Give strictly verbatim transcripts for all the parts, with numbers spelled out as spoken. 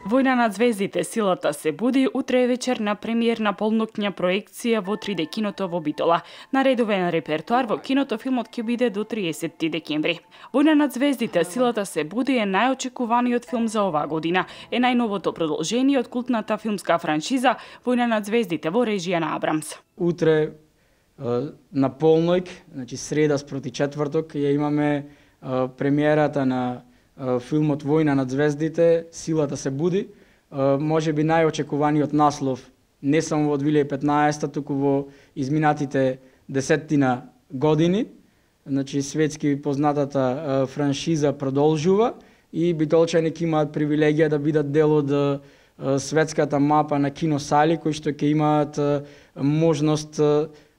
Војна над звездите, силата се буди, утре вечер на премиерна полноќна проекција во три де киното во Битола. На редовен репертоар во киното филмот ќе биде до триесетти декември. Војна над звездите, силата се буди е најочекуваниот филм за оваа година. Е најновото продолжение од култната филмска франшиза Војна над звездите во режија на Абрамс. Утре на полноќ, значи среда спроти четврток, ја имаме премиерата на филмот Војна над звездите, силата се буди, може би најочекуваниот наслов не само во две илјади и петнаесетта, туку во изминатите десеттина години. Значи светски познатата франшиза продолжува и битолчани ќе имаат привилегија да бидат дел од светската мапа на киносали кои што ќе имаат можност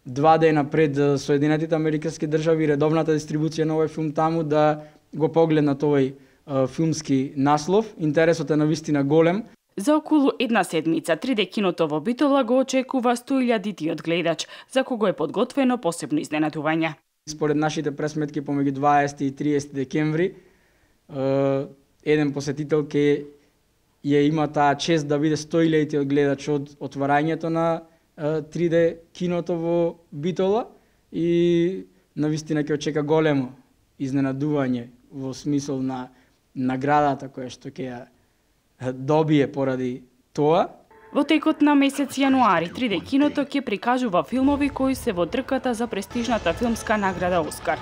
два дена пред Соединетите Американски држави редовната дистрибуција на овој филм таму да го погледнат овој филмски наслов. Интересот е навистина голем. За околу една седмица три де киното во Битола го очекува сто илјадитиот гледач, за кого е подготвено посебно изненадување. Според нашите пресметки помеѓу дваесетти и триесетти декември, еден посетител ќе ја има таа чест да биде сто илјадитиот гледач од отварањето на три де киното во Битола и навистина ќе очека големо изненадување во смисол на наградата која што ќе ја добие поради тоа. Во текот на месец јануари три де киното ќе прикажува филмови кои се во трката за престижната филмска награда Оскар.